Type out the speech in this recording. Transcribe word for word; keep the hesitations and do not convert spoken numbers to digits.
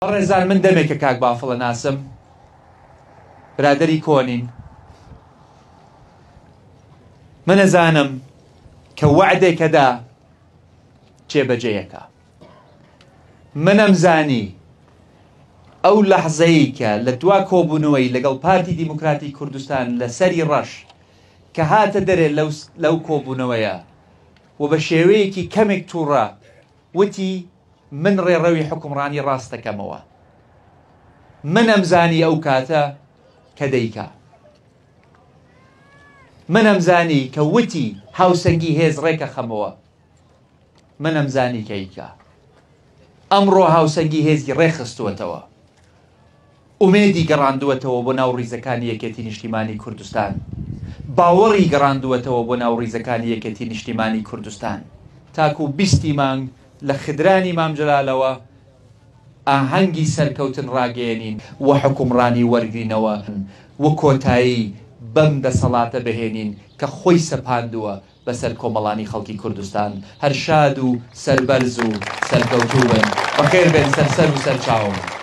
بەڕێزان من دەمێکە کاک بافڵە ناسم، برادەری کۆنین. من ئەزانم کە وەعدێکەدا جێبەجێیەکە. منم زانی ئەو لەحزەیە کە لە دوا کۆبوونەوەی لەگەڵ پارتی دیموکراتی کوردستان لە سەری ڕەش کە هاتە دەرێ لەو کۆبوونەوەیە و بە شێوەیەکی کەمێک تووڕە وتی من ڕێڕەوی حکومڕانی ڕاستەکەمەوە. منم زانی ئەو کاتە کە دەیکا. منم زانی کە وتی هاوسەنگی هێز ڕێکە خەمەوە. منم زانی کە ئیکا. ئەمڕۆ هاوسەنگی هێزی ڕێخستووەتەوە، ئومێدی گەڕاندووەتەوە بۆ ناو ڕیزەکانی یەکێتی نیشتیمانی کوردستان، باوەڕی گەڕاندووەتەوە بۆ ناو ڕیزەکانی یەکێتی نیشتیمانی کوردستان. تاکو بیستی مانگ لە خدرانی مام جەلالەوە ئاهەنگی سەرکەوتن ڕاگەیەنین و حکومڕانی وەرگرینەوە و کۆتایی بەم دەسەڵاتە بهێنین کە خۆی سەپاندووە بەسەر کۆمەڵانی خەڵکی کوردستان. هەر شاد و سەربەرز و سەرکەوتوو بن. بەخێر بێن سەرسەر و سەرچاوم.